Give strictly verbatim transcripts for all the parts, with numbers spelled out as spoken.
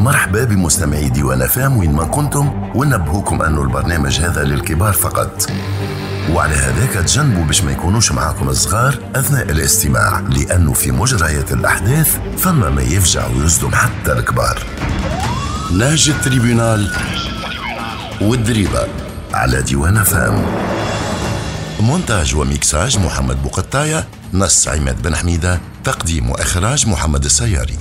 مرحبا بمستمعي ديوان أف أم وين ما كنتم، ونبهوكم أنه البرنامج هذا للكبار فقط، وعلى هذاك تجنبوا باش ما يكونوش معاكم الصغار أثناء الاستماع، لأنه في مجريات الأحداث فما ما يفجع ويصدم حتى الكبار. نهج ال tribunal والدريبة على ديوان أف أم. مونتاج وميكساج محمد بوقطاية، نص عماد بن حميدة، تقديم وإخراج محمد السياري.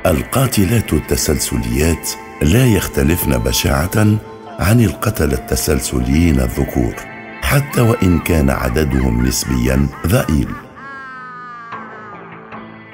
القاتلات التسلسليات لا يختلفن بشاعة عن القتلة التسلسليين الذكور، حتى وإن كان عددهم نسبيا ضئيل.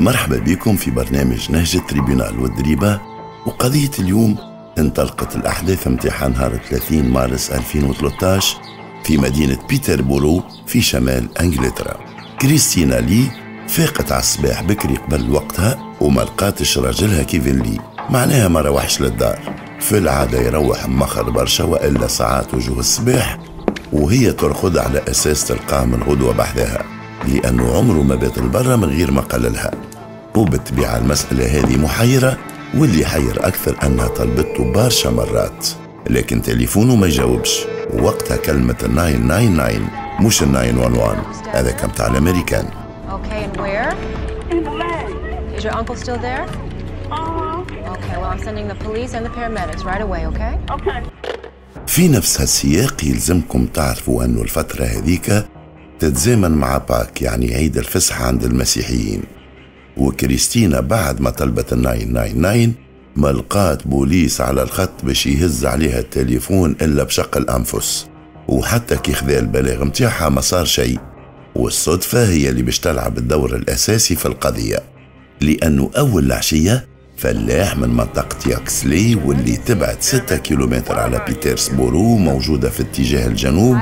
مرحبا بكم في برنامج نهج ال tribunal والدريبة. وقضية اليوم انطلقت الأحداث امتحان نهار ثلاثين مارس ألفين وثلاثة عشر في مدينة بيتربورو في شمال أنجلترا. كريستينا لي فاقت على الصباح بكري قبل وقتها وما لقاتش راجلها كيفن لي، معناها ما روحش للدار. في العادة يروح مخر برشا وإلا ساعات وجوه الصباح، وهي ترقد على أساس تلقاه من غدوة بحذاها، لأنه عمره ما بات البرة من غير ما قللها. وبالطبيعة المسألة هذه محيرة، واللي حير أكثر أنها طلبته برشا مرات لكن تليفونه ما يجاوبش. ووقتها كلمة تسعة تسعة تسعة مش تسعة واحد واحد، هذا كان تاع الأمريكان. Okay, and where? In the lane. Is your uncle still there? Uh-huh. Okay, well I'm sending the police and the paramedics right away, okay? Okay. في نفس هالسياق يلزمكم تعرفوا أنه الفترة هذيك تتزامن مع Pâques، يعني عيد الفصح عند المسيحيين. وكريستينا بعد ما طلبت تسعة تسعة تسعة ما لقات بوليس على الخط باش يهز عليها التليفون إلا بشق الأنفس، وحتى كي خذا البلاغ متاعها ما صار شيء. والصدفة هي اللي باش تلعب الدور الأساسي في القضية، لأنه أول العشية فلاح من منطقة ياكسلي واللي تبعد ستة كيلومتر على بيترسبورو موجودة في اتجاه الجنوب،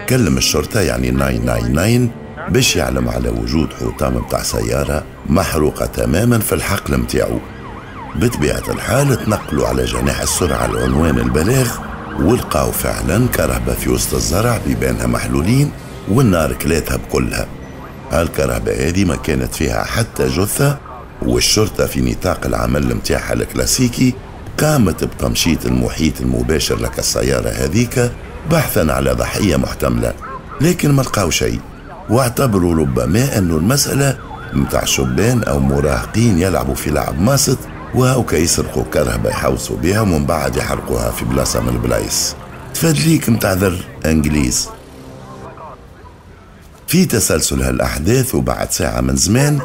كلم الشرطة يعني تسعة تسعة تسعة باش يعلم على وجود حطام متاع سيارة محروقة تماما في الحقل متاعو. بطبيعة الحال تنقلوا على جناح السرعة العنوان البلاغ، ولقاو فعلا كرهبة في وسط الزرع بيبانها محلولين والنار كلاتها بكلها. هالكرهبة هذه ما كانت فيها حتى جثة، والشرطة في نطاق العمل متاعها الكلاسيكي قامت بتمشيط المحيط المباشر لك السيارة هذيك بحثا على ضحية محتملة، لكن ما لقاو شيء، واعتبروا ربما أنه المسألة متاع شبان أو مراهقين يلعبوا في لعب ماسط وهوكا يسرقوا كرهبة يحوسوا بها ومن بعد يحرقوها في بلاصة من البلايص. تفادليك متاع ذر انجليز. في تسلسل هالأحداث وبعد ساعة من زمان،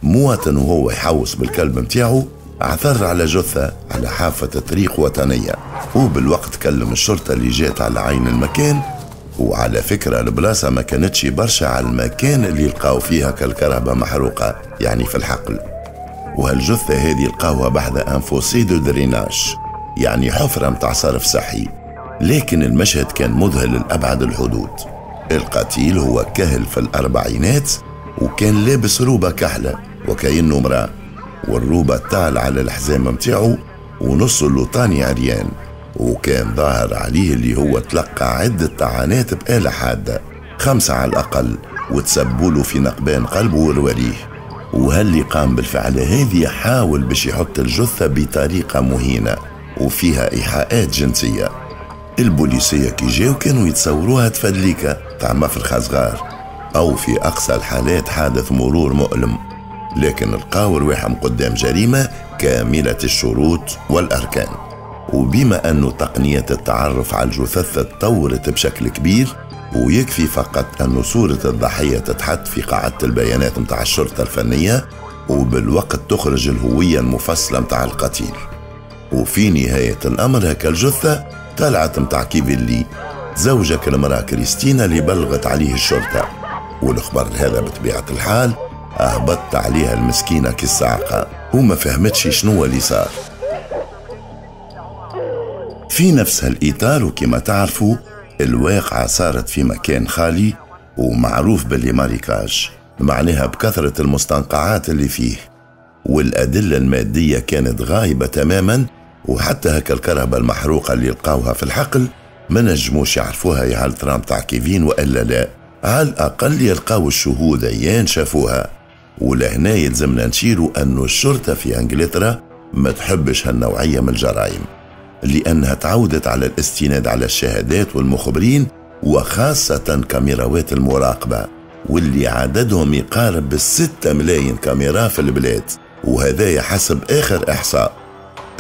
مواطن وهو يحوس بالكلب متاعه عثر على جثة على حافة طريق وطنية، وبالوقت كلم الشرطة اللي جات على عين المكان. وعلى فكرة البلاصة ما كانتش برشا على المكان اللي لقاو فيها كالكرهبة محروقة، يعني في الحقل. وهالجثة هذه لقاوها بحذا un fossé de drainage، يعني حفرة متاع صرف صحي. لكن المشهد كان مذهل لأبعد الحدود. القتيل هو كهل في الأربعينات، وكان لابس روبة كحلة وكأنه امرأة، والروبة طال على الحزام متاعه ونص اللوطاني عريان، وكان ظاهر عليه اللي هو تلقى عدة طعنات بآلة حادة، خمسة على الأقل، وتسبوله في نقبان قلبه ورواريه. وهاللي قام بالفعل هذه حاول باش يحط الجثة بطريقة مهينة وفيها إيحاءات جنسية. البوليسية كي جاو كانوا يتصوروها تفدليكة تاع مفرخة صغار، أو في أقصى الحالات حادث مرور مؤلم، لكن لقاو رواحهم قدام جريمة كاملة الشروط والأركان. وبما أنه تقنية التعرف على الجثث تطورت بشكل كبير، ويكفي فقط أن صورة الضحية تتحط في قاعدة البيانات متاع الشرطة الفنية، وبالوقت تخرج الهوية المفصلة متاع القتيل. وفي نهاية الأمر هكا الجثة طلعت متاع كيفن لي زوجك المرأة كريستينا اللي بلغت عليه الشرطة. والخبر هذا بطبيعة الحال أهبطت عليها المسكينة كالصاعقة وما فهمتش شنو اللي صار. في نفس هالإطار وكما تعرفوا الواقعة صارت في مكان خالي ومعروف باللي marécage، معناها بكثرة المستنقعات اللي فيه، والأدلة المادية كانت غايبة تماما. وحتى هكا الكرهبة المحروقة اللي لقاوها في الحقل ما نجموش يعرفوها يا هل ترام تاع كيفين وإلا لا، على الأقل يلقاو الشهود عيان شافوها. ولهنا يلزمنا نشيروا أنه الشرطة في أنجلترا ما تحبش هالنوعية من الجرائم، لأنها تعودت على الاستناد على الشهادات والمخبرين، وخاصة كاميراوات المراقبة واللي عددهم يقارب بالستة ملايين كاميرا في البلاد، وهذا حسب آخر إحصاء.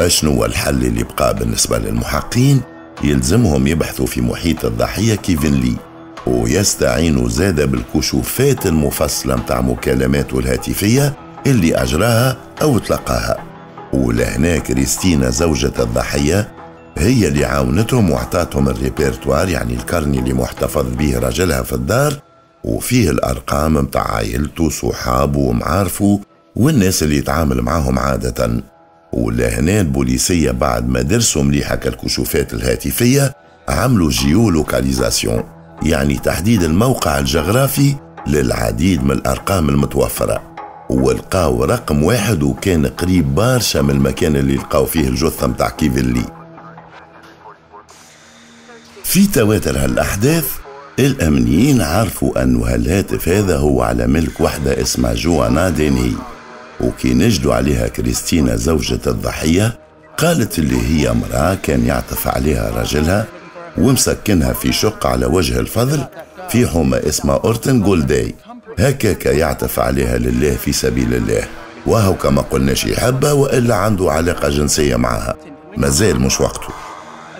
أشنو الحل اللي بقى بالنسبة للمحقين؟ يلزمهم يبحثوا في محيط الضحية كيفن لي، ويستعينوا زادة بالكشوفات المفصلة متاع مكالماته الهاتفية اللي أجراها أو تلقاها. ولهنا كريستينا زوجة الضحية هي اللي عاونتهم وعطاتهم الريبرتوار، يعني ال carnet اللي محتفظ به رجلها في الدار، وفيه الأرقام متاع عائلته صحابه ومعارفه والناس اللي يتعامل معاهم عادة. ولهنا البوليسية بعد ما درسوا مليحة الكشوفات الهاتفية عملوا géolocalisation، يعني تحديد الموقع الجغرافي للعديد من الأرقام المتوفرة، ولقاو رقم واحد وكان قريب برشا من المكان اللي لقاو فيه الجثة متاع كيفن لي. في تواتر هالأحداث الأمنيين عرفوا أنه هالهاتف هذا هو على ملك وحدة اسمها جوانا دينهي، وكي نجدوا عليها كريستينا زوجة الضحية قالت اللي هي امرأة كان يعطف عليها رجلها ومسكنها في شقة على وجه الفضل في حومة اسمها أورتن جولداي، هكاك يعطف عليها لله في سبيل الله، وهو كما قلناش يحبها وإلا عنده علاقة جنسية معها، مازال مش وقته.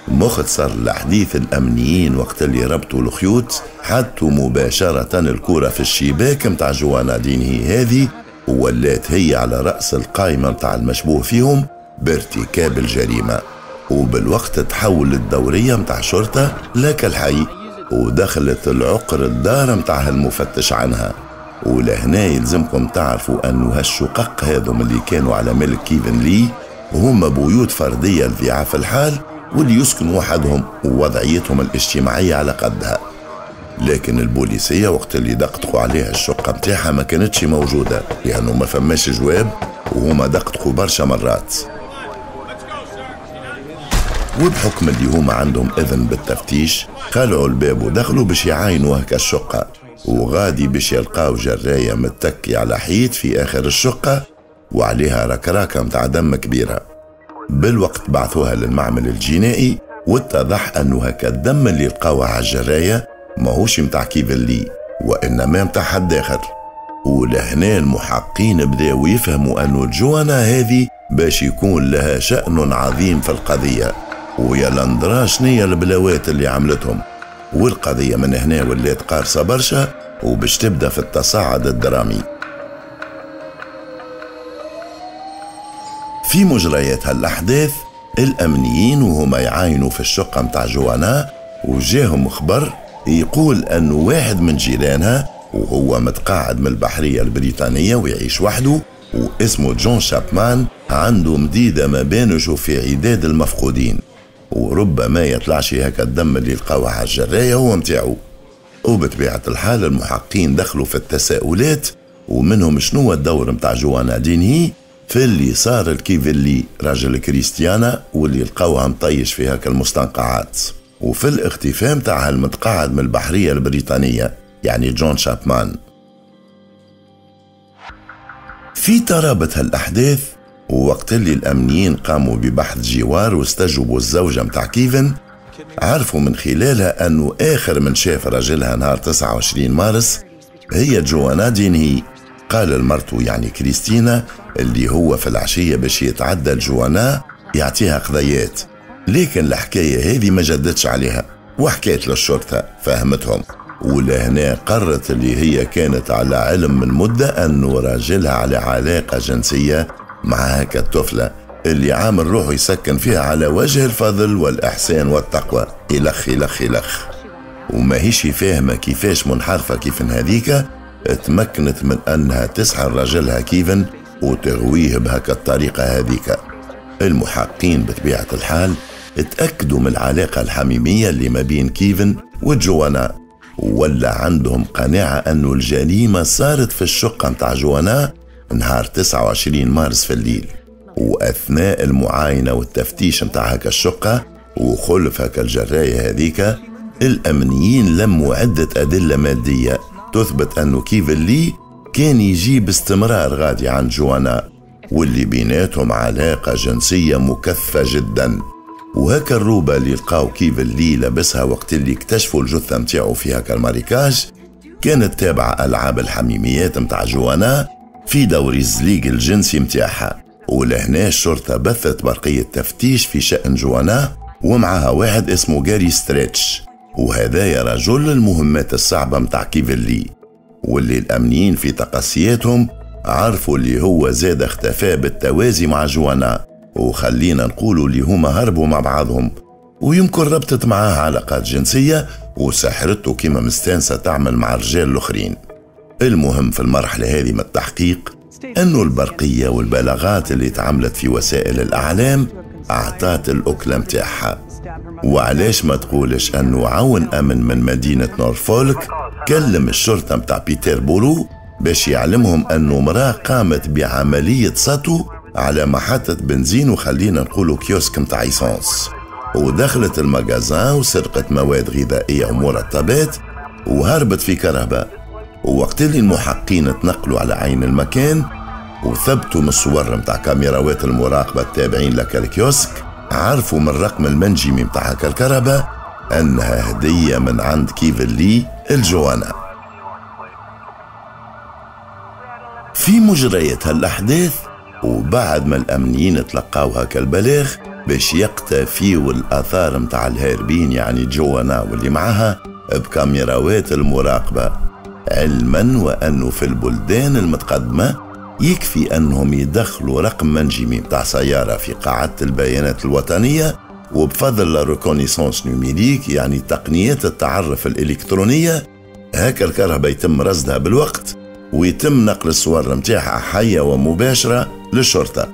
مختصر الحديث، الأمنيين وقت اللي ربطوا الخيوط حطوا مباشرة الكرة في الشباك متاع جوانا دينهي هذه، وولات هي على رأس القائمة متاع المشبوه فيهم بارتكاب الجريمة. وبالوقت تحول الدورية متاع شرطة لك الحي، ودخلت العقر الدار متاعها المفتش عنها. ولهنا يلزمكم تعرفوا أنه هالشقق هذم اللي كانوا على ملك كيفن لي هما بيوت فردية لضعاف الحال واللي يسكنوا وحدهم ووضعيتهم الاجتماعية على قدها. لكن البوليسية وقت اللي دقدقوا عليها الشقة متاعها ما كانتش موجودة، لأنه ما فماش جواب وهما دقدقوا برشا مرات. وبحكم اللي هما عندهم إذن بالتفتيش خلعوا الباب ودخلوا باش يعاينوا هكا الشقة، وغادي باش يلقاو جراية متكي على حيط في آخر الشقة وعليها ركراكة متاع دم كبيرة. بالوقت بعثوها للمعمل الجنائي، واتضح أنه هكا الدم اللي لقاوه على الجراية ماهوش متاع كيفن لي وإنما متاع حد آخر. ولهنا المحقين بداوا يفهموا أنه جوانا هذه باش يكون لها شأن عظيم في القضية، ويا لندرا شنية البلاوات اللي عملتهم. والقضية من هنا ولات قارصة برشا وباش تبدأ في التصاعد الدرامي. في مجريات هالأحداث الأمنيين وهما يعاينوا في الشقة متاع جوانا وجاهم خبر يقول أنه واحد من جيرانها وهو متقاعد من البحرية البريطانية ويعيش وحده واسمه جون شابمان عنده مديدة ما بانش في عداد المفقودين، وربما يطلعش هكا الدم اللي لقاوه على الجراية هو متاعو. وبطبيعة الحال المحقين دخلوا في التساؤلات، ومنهم شنو الدور متاع جوانا دينهي في اللي صار لكيفن لي راجل كريستيانا واللي لقاوها مطيش في هكا المستنقعات، وفي الاختفاء متاعها المتقاعد من البحرية البريطانية يعني جون شابمان. في ترابط هالأحداث ووقت اللي الأمنيين قاموا ببحث جوار واستجوبوا الزوجة متاع كيفن، عرفوا من خلالها أنه آخر من شاف رجلها نهار تسعة وعشرين مارس هي جوانا دينهي. قال لمرته يعني كريستينا اللي هو في العشية باش يتعدى لجوانا يعطيها قضيات، لكن الحكاية هذه ما جدتش عليها وحكيت للشرطة فهمتهم. ولهنا قررت اللي هي كانت على علم من مدة أنه راجلها على علاقة جنسية مع هكا الطفلة اللي عامل روحه يسكن فيها على وجه الفضل والإحسان والتقوى إلخ إلخ إلخ. وما هيش فاهمة كيفاش منحرفة كيف هذيك تمكنت من أنها تسحر رجلها كيفن وتغويه بهكا الطريقة هذيك. المحقين بطبيعة الحال اتأكدوا من العلاقة الحميمية اللي ما بين كيفن وجوانا، ولا عندهم قناعة أنه الجريمة صارت في الشقة متاع جوانا نهار تسعة وعشرين مارس في الليل. وأثناء المعاينة والتفتيش متاع هكا الشقة وخلف هكا الجراية هذيك، الأمنيين لموا عدة أدلة مادية تثبت أنه كيفن لي كان يجي باستمرار غادي عند جوانا، واللي بيناتهم علاقة جنسية مكثفة جدا. وهكا الروبة اللي لقاو كيفن لي لبسها وقت اللي اكتشفوا الجثة متاعو في هكا ال marécage كانت تابعة ألعاب الحميميات متاع جوانا في دوري الزليق الجنسي متاعها. ولهنا الشرطة بثت برقية تفتيش في شأن جوانا، ومعها واحد اسمه جاري ستريتش، وهذايا رجل المهمات الصعبة متاع كيفن لي، واللي الأمنيين في تقصياتهم عرفوا اللي هو زاد اختفى بالتوازي مع جوانا، وخلينا نقولوا اللي هما هربوا مع بعضهم، ويمكن ربطت معاه علاقات جنسية وسحرته كما مستانسة تعمل مع الرجال الآخرين. المهم في المرحلة هذه من التحقيق أنه البرقية والبلاغات اللي تعملت في وسائل الأعلام أعطت الأكلة متاعها. وعلاش ما تقولش أنه عون أمن من مدينة نورفولك كلم الشرطة متاع بيتر بورو باش يعلمهم أنه مرأة قامت بعملية سطو على محطة بنزين، وخلينا نقولوا كيوسك متاع essence، ودخلت ال magasin وسرقت مواد غذائية ومرطبات وهربت في كرهبة. ووقت اللي المحقين تنقلوا على عين المكان وثبتوا من الصور متاع كاميراوات المراقبة التابعين لك الكيوسك، عرفوا من الرقم المنجمي متاع هكا الكرهبة أنها هدية من عند كيفن لي الجوانا. في مجريات هالأحداث وبعد ما الأمنيين تلقاو هكا البلاغ باش يقتفيوا الآثار متاع الهاربين، يعني جوانا واللي معها، بكاميراوات المراقبة، علما وأنه في البلدان المتقدمة يكفي أنهم يدخلوا رقم منجمي متاع سيارة في قاعدة البيانات الوطنية، وبفضل la reconnaissance numérique يعني تقنيات التعرف الإلكترونية، هكا الكرهبة يتم رصدها بالوقت ويتم نقل الصور متاعها حية ومباشرة للشرطة.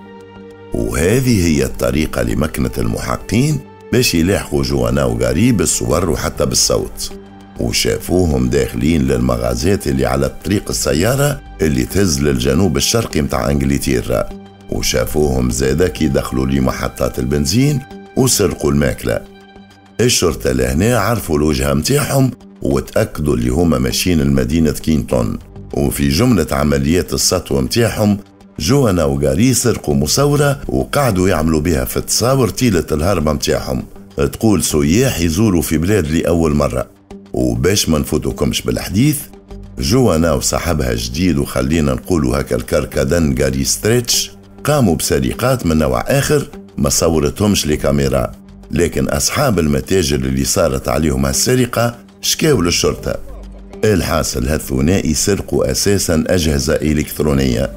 وهذه هي الطريقة لمكنة المحقين باش يلاحقوا جوانا وغاري بالصور وحتى بالصوت. وشافوهم داخلين للمغازات اللي على طريق السيارة اللي تهز للجنوب الشرقي متاع انجلترا، وشافوهم زادا كي دخلوا لمحطات البنزين وسرقوا الماكلة. الشرطة لهنا عرفوا الوجهة متاعهم وتأكدوا اللي هما ماشيين لمدينة كينتون. وفي جملة عمليات السطو متاعهم جوانا وغاري سرقوا مصورة وقعدوا يعملوا بها في التصاور طيلة الهربة متاعهم، تقول سياح يزوروا في بلاد لأول مرة. وباش ما نفوتكمش بالحديث، جوانا وصاحبها جديد وخلينا نقولوا هكا الكركدن غاري ستريتش قاموا بسرقات من نوع آخر ما صورتهمش لكاميرا، لكن أصحاب المتاجر اللي صارت عليهم هالسرقة شكاوا للشرطة. الحاصل هالثنائي سرقوا أساسا أجهزة إلكترونية،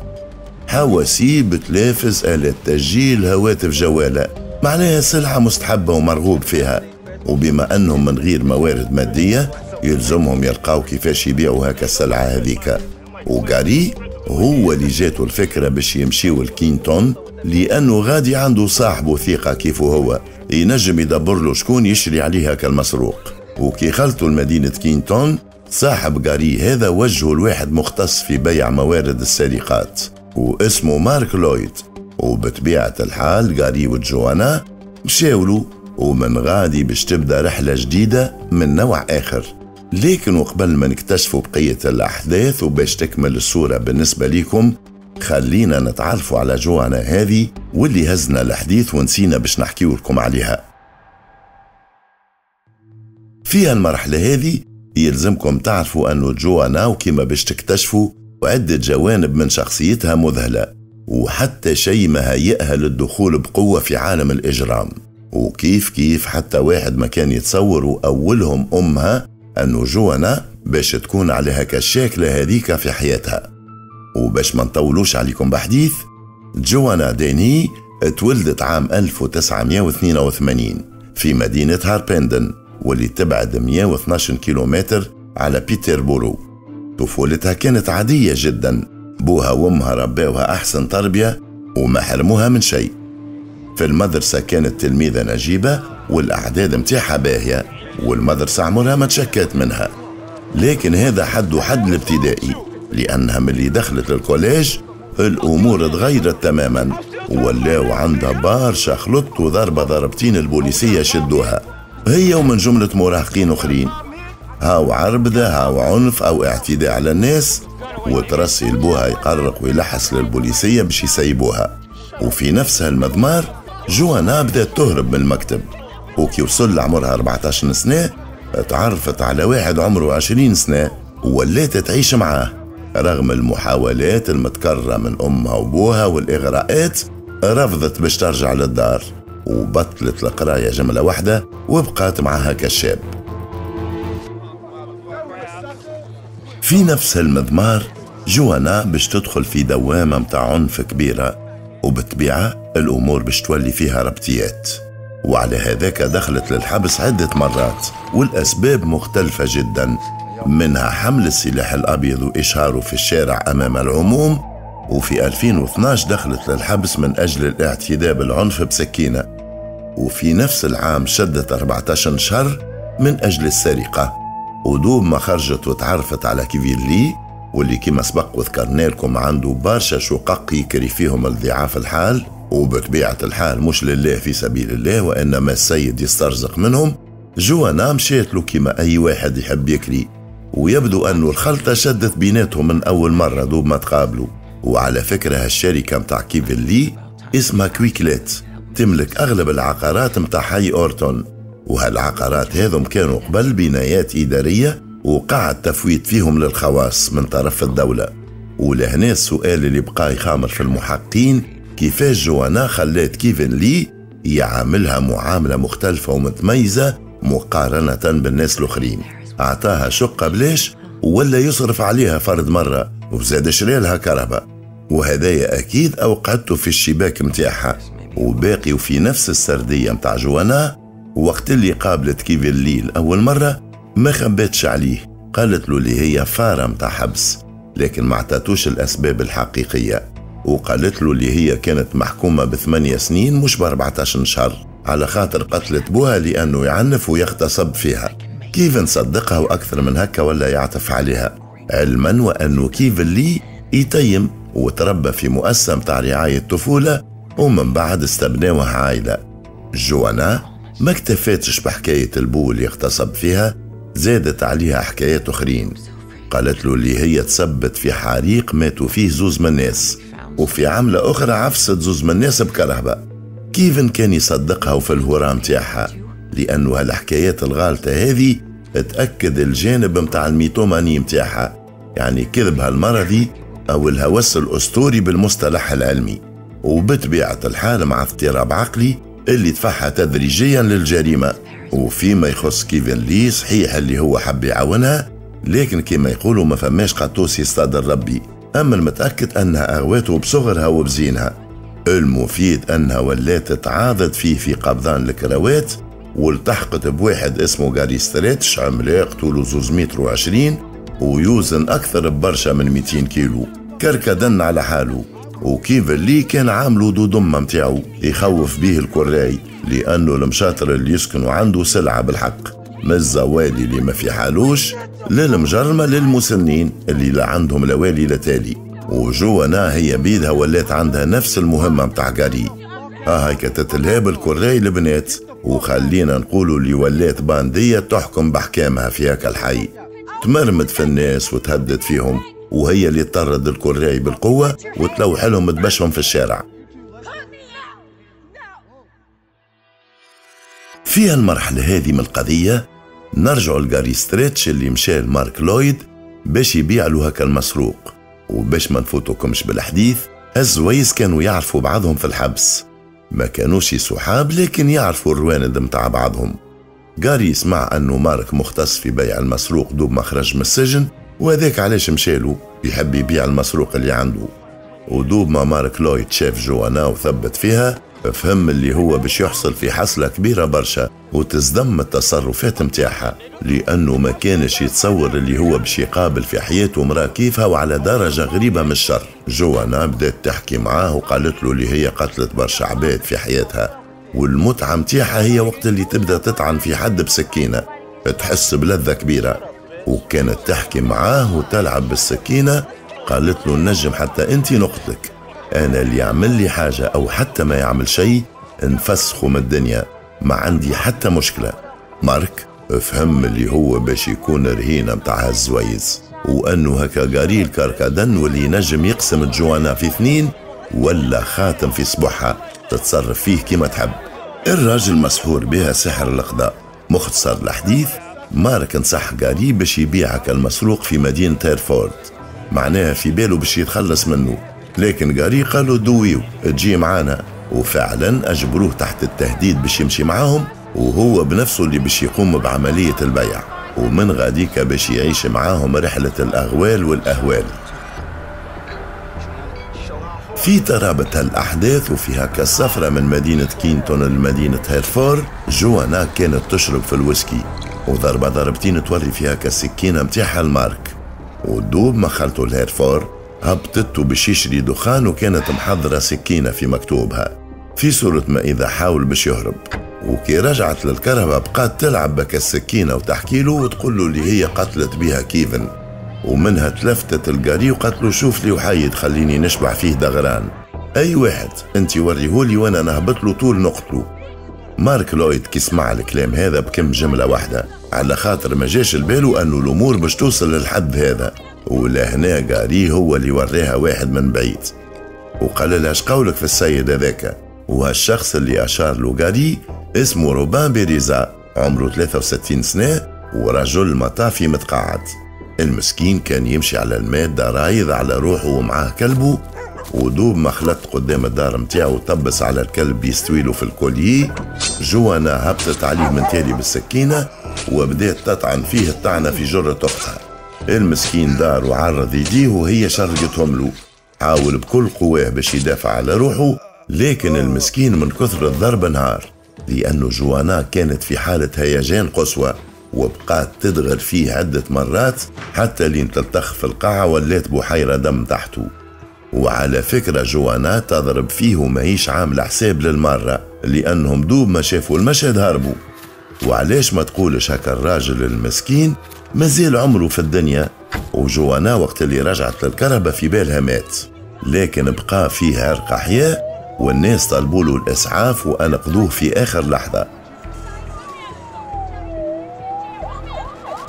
حواسيب، تلافز، آلات تسجيل، هواتف جوالة، معناها سلعة مستحبة ومرغوب فيها. وبما أنهم من غير موارد مادية يلزمهم يلقاو كيفاش يبيعوا هكا السلعة هذيك. وغاري هو اللي جاته الفكرة باش يمشيو لكينتون، لأنه غادي عنده صاحبه ثقة كيفه هو ينجم يدبر له شكون يشري عليه هكا المسروق. وكي خلطوا لمدينة كينتون، صاحب غاري هذا وجهه لواحد مختص في بيع موارد السرقات واسمه مارك لويد. وبطبيعة الحال غاري وجوانا مشاولوا، ومن غادي باش تبدا رحلة جديدة من نوع آخر. لكن وقبل ما نكتشفوا بقية الأحداث وباش تكمل الصورة بالنسبة لكم، خلينا نتعرفوا على جوانا هذه واللي هزنا الحديث ونسينا باش نحكيو لكم عليها. في المرحلة هذه يلزمكم تعرفوا أنه جوانا وكما باش تكتشفوا عدة جوانب من شخصيتها مذهلة، وحتى شيء ما هيئها للدخول بقوة في عالم الإجرام. وكيف كيف حتى واحد ما كان يتصور وأولهم أمها أنه جوانا باش تكون عليها كالشاكلة هذيك في حياتها. وباش ما نطولوش عليكم بحديث، جوانا ديني تولدت عام ألف وتسعمائة واثنين وثمانين في مدينة هاربندن واللي تبعد مئة واثني عشر كيلومتر على بيتربورو. طفولتها كانت عادية جدا، بوها وامها رباوها أحسن تربية وما حرموها من شيء. في المدرسة كانت تلميذة نجيبة والأعداد متاعها باهية، والمدرسة عمرها ما تشكت منها. لكن هذا حد وحد الابتدائي، لأنها من اللي دخلت لل collège الأمور تغيرت تماما، ولاو عندها برشا خلط وضربة ضربتين البوليسية شدوها هي ومن جملة مراهقين أخرين، هاو عربدة هاو عنف أو اعتداء على الناس. وترسي لبوها يقرق ويلحس للبوليسية باش يسيبوها. وفي نفس هالمضمار جوانا بدأت تهرب من المكتب، وكي وصل لعمرها أربعة عشر سنة تعرفت على واحد عمره عشرين سنة وولات تعيش معاه. رغم المحاولات المتكررة من أمها وبوها والإغراءات رفضت باش ترجع للدار، وبطلت القراية جملة واحدة وبقات معها كالشاب. في نفس المضمار جوانا باش تدخل في دوامة متاع عنف كبيرة، وبالطبيعة الأمور باش تولي فيها ربطيات، وعلى هذاك دخلت للحبس عدة مرات والأسباب مختلفة جدا، منها حمل السلاح الأبيض وإشهاره في الشارع أمام العموم، وفي ألفين واثناش دخلت للحبس من أجل الاعتداء بالعنف بسكينة، وفي نفس العام شدت أربعة عشر شهر من أجل السرقة. ودوب ما خرجت وتعرفت على كيفين لي، واللي كما سبق وذكرنا لكم عنده برشا شقق يكري فيهم الضعاف الحال، وبطبيعة الحال مش لله في سبيل الله وإنما السيد يسترزق منهم. جوانا مشيت له كما أي واحد يحب يكري، ويبدو أنه الخلطة شدت بيناتهم من أول مرة دوب ما تقابلوا. وعلى فكرة هالشركة متاع كيفين لي اسمها Kwiklet، تملك أغلب العقارات متاع حي أورتون، وهالعقارات هذم كانوا قبل بنايات إدارية وقع التفويت فيهم للخواص من طرف الدولة. ولهنا السؤال اللي بقى يخامر في المحققين، كيفاش جوانا خلات كيفين لي يعاملها معاملة مختلفة ومتميزة مقارنة بالناس الآخرين؟ أعطاها شقة بلاش ولا يصرف عليها فرد مرة، وزاد شريلها كهرباء، وهدايا أكيد أوقعته في الشباك متاعها. وباقي وفي نفس السردية متاع جوانا، وقت اللي قابلت كيفين لي لأول مرة ما خبتش عليه، قالت له اللي هي فارة متاع حبس، لكن ما اعطتوش الأسباب الحقيقية، وقالت له اللي هي كانت محكومة بثمانية سنين مش بأربعة عشر شهر على خاطر قتلت بوها لأنه يعنف ويغتصب فيها. كيفن صدقها وأكثر من هكا ولا يعطف عليها، علما وأنه كيفن لي يتيم وتربى في مؤسسة متاع رعاية طفولة، ومن بعد استبناوه عائلة. جوانا ما اكتفاتش بحكاية البو اللي اغتصب فيها، زادت عليها حكايات أخرين. قالت له اللي هي تسبت في حريق ماتوا فيه زوز من الناس، وفي عملة أخرى عفست زوز من الناس بكرهبة. كيفن كان يصدقها وفي الهرام تاعها، لأنه هالحكايات الغالطة هذه تأكد الجانب متاع ال mythomanie متاعها، يعني كذبها المرضي أو الهوس الأسطوري بالمصطلح العلمي، وبطبيعة الحال مع اضطراب عقلي اللي دفعها تدريجيا للجريمة. وفيما يخص كيفين لي، صحيح اللي هو حب يعاونها، لكن كما يقولوا ما فماش قطوس يصطاد الربي، أما المتأكد أنها أغواته بصغرها وبزينها. المفيد أنها ولات تعاضد فيه في قبضان الكروات، والتحقت بواحد اسمه غاري ستريتش، عملاق طوله زوز متر وعشرين ويوزن أكثر ببرشا من مئتين كيلو، كركدن على حاله. وكيفن لي كان عامله دودمة متاعو يخوف بيه الكراي، لأنه المشاطر اللي يسكنوا عنده سلعة بالحق، من الزوالي اللي ما في حالوش للمجرمة للمسنين اللي لا عندهم لا والي لا تالي. وجوانا هي بيدها ولات عندها نفس المهمة متاع غاري، ها هاي تتلهاب الكراي البنات، وخلينا نقولوا اللي ولات باندية تحكم بحكامها في هاك الحي، تمرمد في الناس وتهدد فيهم، وهي اللي تطرد الكراي بالقوة وتلوح لهم تبشهم في الشارع. في المرحلة هذه من القضية نرجع لغاري ستريتش اللي مشى لمارك لويد باش يبيع له هكا المسروق. وباش ما نفوتكمش بالحديث، الزويز كانوا يعرفوا بعضهم في الحبس، ما كانوش صحاب لكن يعرفوا الرواند متاع بعضهم. غاري سمع أنه مارك مختص في بيع المسروق دوب ما خرج من السجن، وهذاك علاش مشالو، يحب يبيع المسروق اللي عنده. ودوب ما مارك لويد شاف جوانا وثبت فيها، فهم اللي هو باش يحصل في حصلة كبيرة برشا وتصدم التصرفات متاعها، لأنه ما كانش يتصور اللي هو باش يقابل في حياته مرأة كيفها وعلى درجة غريبة من الشر. جوانا بدأت تحكي معاه وقالت له اللي هي قتلت برشا عباد في حياتها، والمتعة متاعها هي وقت اللي تبدأ تطعن في حد بسكينة تحس بلذة كبيرة. وكانت تحكي معاه وتلعب بالسكينة، قالت له نجم حتى انت نقتلك، أنا اللي يعمل لي حاجة أو حتى ما يعمل شيء نفسخه من الدنيا، ما عندي حتى مشكلة. مارك فهم اللي هو باش يكون رهينة متاع هالزويز، وأنه هكا غاري الكركدن واللي ينجم يقسم جوانا في اثنين ولا خاتم في صبحها تتصرف فيه كما تحب. الراجل مسحور بها سحر القضاء. مختصر الحديث، مارك نصح غاري باش يبيعك المسروق في مدينة هيرفورد، معناها في باله باش يتخلص منه، لكن غاري قالوا دويو تجي معانا، وفعلا أجبروه تحت التهديد باش يمشي معاهم، وهو بنفسه اللي باش يقوم بعملية البيع، ومن غاديك باش يعيش معاهم رحلة الأغوال والأهوال. في ترابط الأحداث وفي هكا السفرة من مدينة كينتون لمدينة هيرفور، جوانا كانت تشرب في الويسكي وضربة ضربتين توري في هكا السكينة متاعها المارك، ودوب ما خلته الهيرفور هبطته باش يشري دخان، وكانت محضرة سكينة في مكتوبها في صورة ما إذا حاول باش يهرب. وكي رجعت للكرهبة بقات تلعب بك السكينة وتحكي له وتقول له اللي هي قتلت بها كيفن، ومنها تلفتت القاري وقالت له شوف لي وحيد خليني نشبع فيه دغران، أي واحد انت وريهولي وانا نهبط له طول نقتله. مارك لويد كي سمع الكلام هذا بكم جملة واحدة، على خاطر ما جاش البالو أنه الأمور باش توصل للحد هذا، ولهنا قاري هو اللي وريها واحد من بعيد وقال لها اش قولك في السيد هذاك. وهالشخص اللي أشار له قاري اسمه روبان بيريزا، عمره ثلاثة وستين سنة ورجل مطافي متقاعد. المسكين كان يمشي على المادة رايض على روحه ومعاه كلبه، ودوب ما خلط قدام الدار متاعه طبس على الكلب يستويله في ال collier، جوانا هبطت عليه من تالي بالسكينة وبدات تطعن فيه الطعنة في جرة أختها. المسكين دار وعرض يديه وهي شرقتهم له، حاول بكل قواه باش يدافع على روحه، لكن المسكين من كثر الضرب انهار، لأنه جوانا كانت في حالة هيجان قصوى وبقات تدغر فيه عدة مرات حتى لين تلتخ في القاعة ولات بحيرة دم تحته. وعلى فكرة جوانا تضرب فيه وماهيش عاملة حساب للمرة، لأنهم دوب ما شافوا المشهد هربوا. وعلاش ما تقولش هكا الراجل المسكين مازال عمره في الدنيا؟ وجوانا وقت اللي رجعت للكرهبة في بالها مات، لكن بقى فيه عرق حياة، والناس طلبوا له الإسعاف وأنقذوه في آخر لحظة.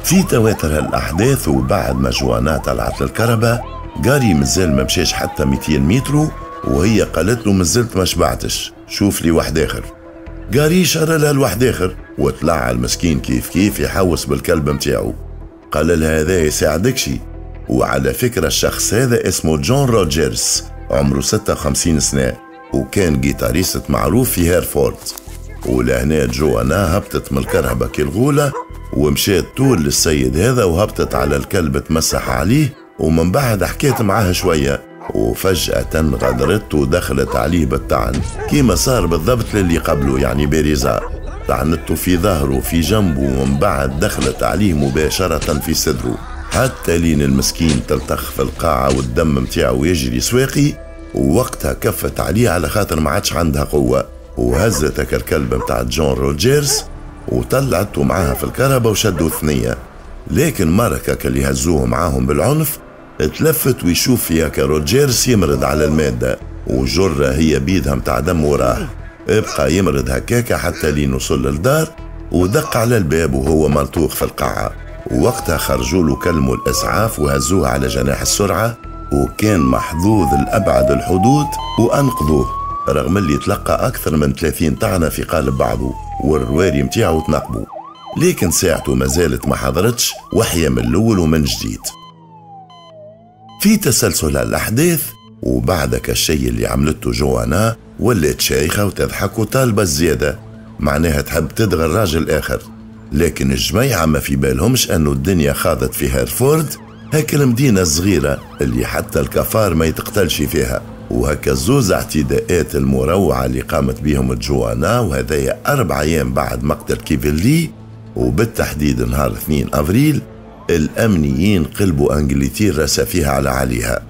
في تواتر الأحداث وبعد ما جوانا طلعت للكرهبة، غاري مازال ما مشاش حتى مئتين متر وهي قالت له مازلت ما شبعتش، شوف لي واحد آخر. غاري شرى لها الواحد آخر وطلع المسكين كيف كيف يحوس بالكلب متاعو، قال لها هذا يساعدكشي. وعلى فكرة الشخص هذا اسمه جون روجرز، عمره ستة وخمسين سنة وكان guitariste معروف في هيرفورد. ولهنا جوانا هبطت من الكرهبة كالغولة ومشات طول للسيد هذا وهبطت على الكلب تمسح عليه، ومن بعد حكيت معاه شوية وفجأة غدرت ودخلت عليه بالطعن كيما صار بالضبط للي قبله، يعني بيريزا. طعنته في ظهره في جنبه ومن بعد دخلت عليه مباشرة في صدره حتى لين المسكين تلتخ في القاعة والدم متاعه يجري سواقي. ووقتها كفت عليه على خاطر ما عادش عندها قوة، وهزت الكلب متاع جون روجرز وطلعته معاها في الكرهبة وشدوا ثنية. لكن ماركك اللي هزوه معاهم بالعنف تلفت ويشوف فيها كروجيرز يمرض على المادة وجرة هي بيدها متاع دم وراه. ابقى يمرض هكاكا حتى لين وصل للدار ودق على الباب وهو ملطوخ في القاعة. ووقتها خرجوا له كلموا الإسعاف وهزوه على جناح السرعة، وكان محظوظ لأبعد الحدود وأنقذوه رغم اللي تلقى أكثر من ثلاثين طعنة في قالب بعضه والرواري متاعه تنقبوا، لكن ساعته ما زالت ما حضرتش وحيا من الأول ومن جديد. في تسلسل الأحداث وبعدك الشيء اللي عملته جوانا ولات شايخة وتضحك وطالبة الزيادة، معناها تحب تدغر راجل آخر. لكن الجميعة ما في بالهمش أنه الدنيا خاضت في هيرفورد، هاك المدينة الصغيرة اللي حتى الكفار ما يتقتلش فيها. وهكا زوز اعتداءات المروعة اللي قامت بهم جوانا، وهذايا أربع أيام بعد مقتل كيفن لي، وبالتحديد نهار اثنين أفريل، الأمنيين قلبوا أنجلترا سفيها على عليها.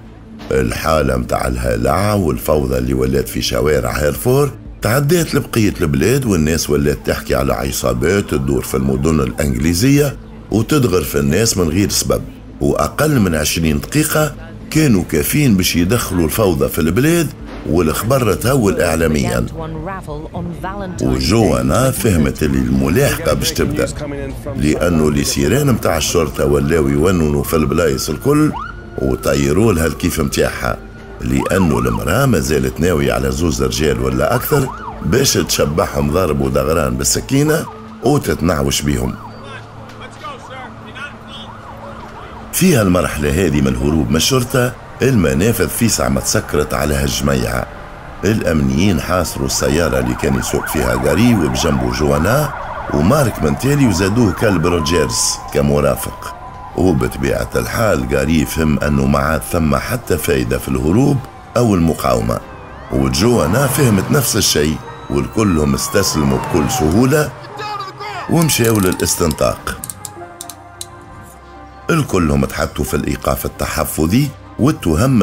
الحالة متاع الهلع والفوضى اللي ولات في شوارع هيرفور تعديت لبقية البلاد، والناس ولات تحكي على عصابات تدور في المدن الأنجليزية وتدغر في الناس من غير سبب. وأقل من عشرين دقيقة كانوا كافين باش يدخلوا الفوضى في البلاد والخبر تهول إعلاميا. وجوانا فهمت اللي الملاحقة باش تبدأ، لأنه les sirènes متاع الشرطة ولاو يوننوا في البلايص الكل وطيروا لها الكيف متاعها، لأنه المرأة ما زالت ناوية على زوز رجال ولا أكثر باش تشبعهم ضرب ودغران بالسكينة وتتنعوش بيهم. فيها المرحلة هذه من الهروب من الشرطة المنافذ في ساعة ما تسكرت على هالجميعة. الأمنيين حاصروا السيارة اللي كان يسوق فيها غاري وبجنبه جوانا ومارك من تالي، وزادوه كلب روجيرز كمرافق. وبطبيعة الحال غاري فهم أنه ما عاد ثم حتى فايدة في الهروب أو المقاومة، وجوانا فهمت نفس الشيء، والكلهم استسلموا بكل سهولة ومشاو للاستنطاق. الكلهم تحطوا في الإيقاف التحفظي والتهم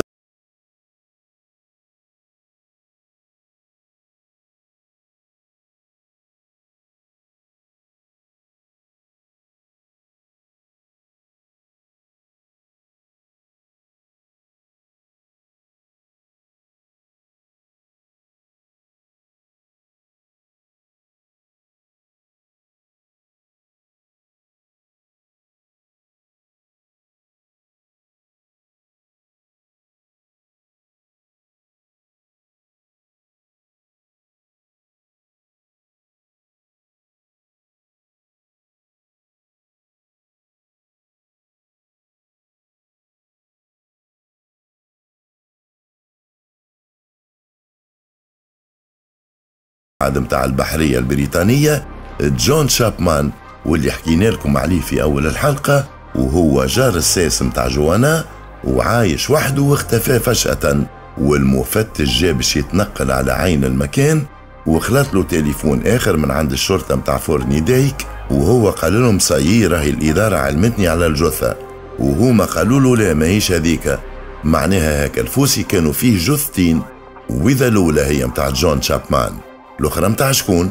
متاع البحرية البريطانية جون شابمان، واللي حكينا لكم عليه في أول الحلقة، وهو جار الساس متاع جوانا وعايش وحده واختفى فجأة. والمفتش جا باش يتنقل على عين المكان، وخلط له تليفون آخر من عند الشرطة متاع فورنيدايك، وهو قال لهم صايي راهي الإدارة علمتني على الجثة، وهما قالوا له لا ماهيش هذيك، معناها هاك الفوسي كانوا فيه جثتين، وإذا الأولى هي متاع جون شابمان الأخرى متاع شكون؟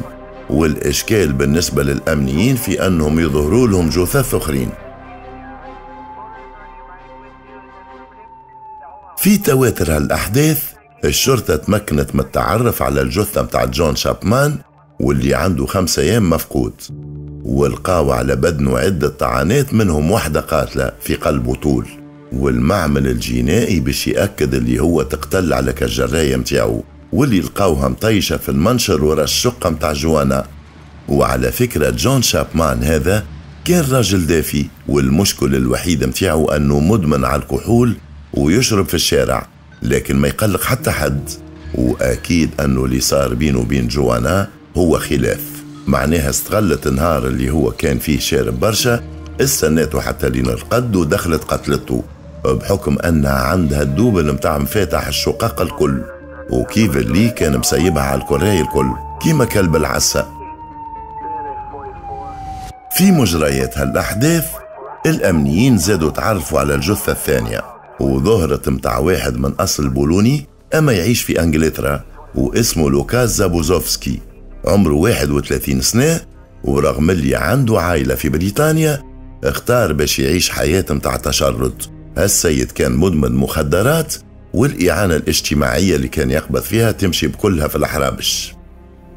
والإشكال بالنسبة للأمنيين في أنهم يظهروا لهم جثث أخرين. في تواتر هالأحداث الشرطة تمكنت من التعرف على الجثة متاع جون شابمان واللي عنده خمسة أيام مفقود، ولقاو على بدنه عدة طعنات منهم واحدة قاتلة في قلبه طول، والمعمل الجنائي باش يأكد اللي هو تقتل على كالجراية متاعو، واللي لقاوها مطيشة في المنشر ورا الشقة متاع جوانا. وعلى فكرة جون شابمان هذا كان راجل دافي، والمشكل الوحيد متاعه أنه مدمن على الكحول ويشرب في الشارع، لكن ما يقلق حتى حد. وأكيد أنه اللي صار بينه وبين جوانا هو خلاف، معناها استغلت النهار اللي هو كان فيه شارب برشا، استناته حتى لين رقد ودخلت قتلته، بحكم أنها عندها ال double متاع مفاتح الشقق الكل، وكيف اللي كان مسيبها على الكراي الكل كيما كلب العسا. في مجريات هالأحداث الأمنيين زادوا تعرفوا على الجثة الثانية، وظهرت متاع واحد من أصل بولوني أما يعيش في أنجلترا، واسمه لوكاس زابوزوفسكي، عمره واحد وثلاثين سنة، ورغم اللي عنده عائلة في بريطانيا اختار باش يعيش حياة متاع تشرد. هالسيد كان مدمن مخدرات، والإعانة الاجتماعية اللي كان يقبض فيها تمشي بكلها في الحرابش.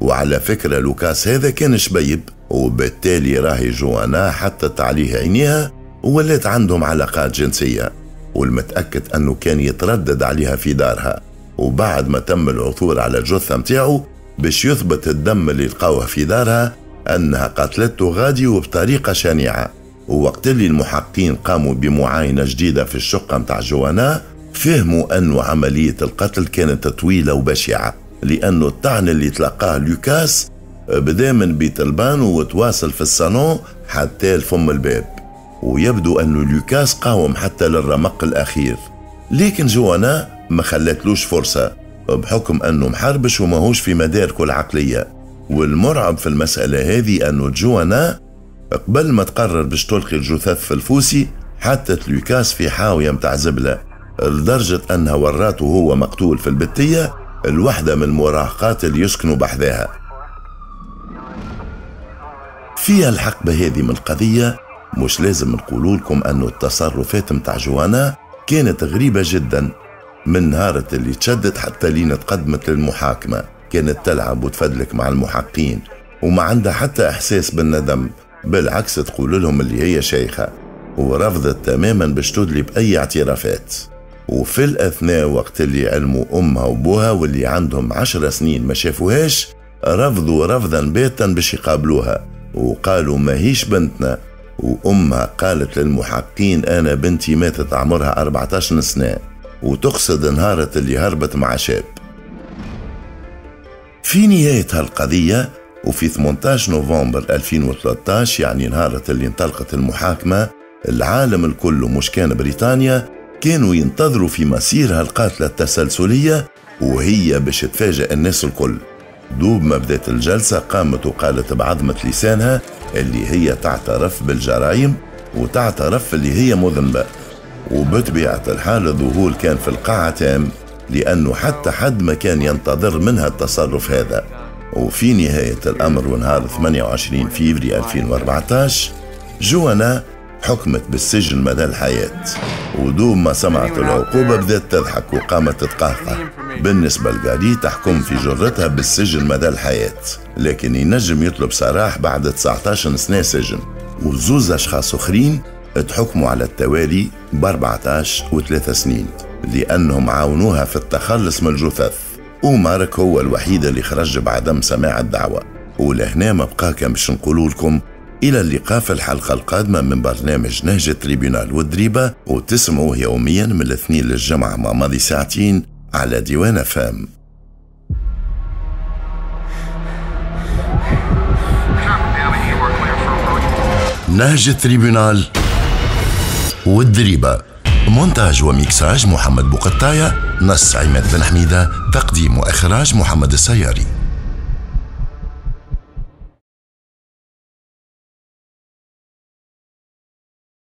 وعلى فكرة لوكاس هذا كان شبيب، وبالتالي راهي جوانا حطت عليه عينيها وولات عندهم علاقات جنسية، والمتأكد أنه كان يتردد عليها في دارها. وبعد ما تم العثور على الجثة متاعه باش يثبت الدم اللي لقاوه في دارها أنها قتلته غادي وبطريقة شنيعة. ووقت اللي المحققين قاموا بمعاينة جديدة في الشقة متاع جوانا، فهموا أن عملية القتل كانت طويلة وبشعة، لأنه الطعن اللي تلقاه لوكاس بدا من بيت البان وتواصل في الصالون حتى لفم الباب، ويبدو أن لوكاس قاوم حتى للرمق الأخير، لكن جوانا ما خلتلوش فرصة بحكم أنه محربش وماهوش في مداركه العقلية. والمرعب في المسألة هذه أنه جوانا قبل ما تقرر باش تلقي الجثث في الفوسي حطت لوكاس في حاوية متاع زبلة، لدرجة أنها وراته وهو مقتول في البتية الوحدة من المراهقات اللي يسكنوا بحذاها. في الحقبة هذه من القضية مش لازم نقول لكم أنه التصرفات متاع جوانا كانت غريبة جدا، من نهارة اللي تشدت حتى لين تقدمت للمحاكمة كانت تلعب وتفدلك مع المحقين وما عندها حتى إحساس بالندم، بالعكس تقول لهم اللي هي شيخة، ورفضت تماما باش تدلي بأي اعترافات. وفي الأثناء وقت اللي علموا أمها وبوها واللي عندهم عشر سنين ما شافوهاش، رفضوا رفضا باتا باش يقابلوها وقالوا ما هيش بنتنا. وأمها قالت للمحقين أنا بنتي ماتت عمرها أربعة عشر سنة، وتقصد نهارة اللي هربت مع شاب. في نهاية هالقضية وفي ثمانية عشر نوفمبر ألفين وثلاثة عشر، يعني نهارة اللي انطلقت المحاكمة، العالم الكل مش كان بريطانيا كانوا ينتظروا في مسيرها القاتلة التسلسلية وهي باش تفاجئ الناس الكل. دوب ما بدأت الجلسة قامت وقالت بعظمة لسانها اللي هي تعترف بالجرائم وتعترف اللي هي مذنبة. وبطبيعة الحال الذهول كان في القاعة تام، لأنه حتى حد ما كان ينتظر منها التصرف هذا. وفي نهاية الأمر ونهار ثمانية وعشرين فيفري ألفين وأربعة عشر جوانا حكمت بالسجن مدى الحياة. ودوب ما سمعت العقوبة بدأت تضحك وقامت تتقهقه. بالنسبة لغاري تحكم في جرتها بالسجن مدى الحياة، لكن ينجم يطلب سراح بعد تسعة عشر سنة سجن. وزوز أشخاص أخرين تحكموا على التوالي ب أربعة عشر وثلاث سنين لأنهم عاونوها في التخلص من الجثث، ومارك هو الوحيد اللي خرج بعدم سماع الدعوة. ولهنا ما بقى كان باش نقولوا لكم إلى اللقاء في الحلقة القادمة من برنامج نهج التريبيونال والدريبة، وتسمعوه يوميا من الاثنين للجمعة مع ماضي ساعتين على ديوان فام. نهج التريبيونال والدريبة، مونتاج وميكساج محمد بوقطاية، نص عماد بن حميدة، تقديم وإخراج محمد السياري.